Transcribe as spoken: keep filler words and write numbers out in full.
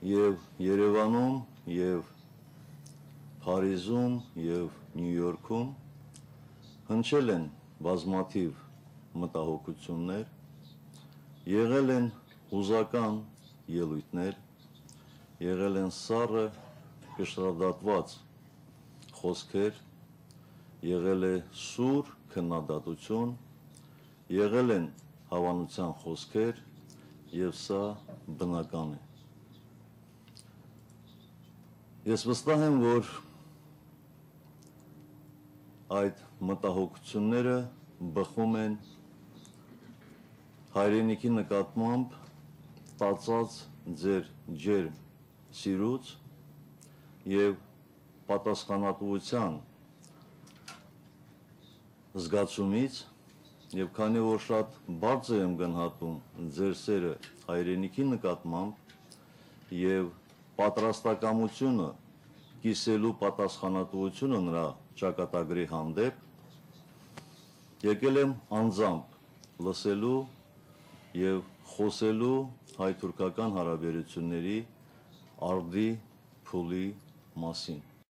եւ Երևանում եւ Փարիզում եւ Նյու Յորքում հնչել են բազմաթիվ մտահոգություններ, եղել են հուզական ելույթներ, եղել են սառը կշռադատված խոսքեր, եղել է սուր քննադատություն, եղել են հավանության խոսքեր եւ սա բնական է։ Ես վստահ եմ, որ այդ մտահոգությունները բխում են հայրենիքի նկատմամբ տածած ձեր ջերմ սիրուց եւ պատասխանատվության զգացումից եւ քանի որ շատ բարձր եմ գնահատում ձեր սերը հայրենիքի նկատմամբ եւ պատրաստակամությունը կիսելու պատասխանատվությունը նրա ճակատագրի հանդեպ եկել եմ անձամբ լսելու եւ խոսելու հայ-թուրքական հարաբերությունների արդի փուլի մասին։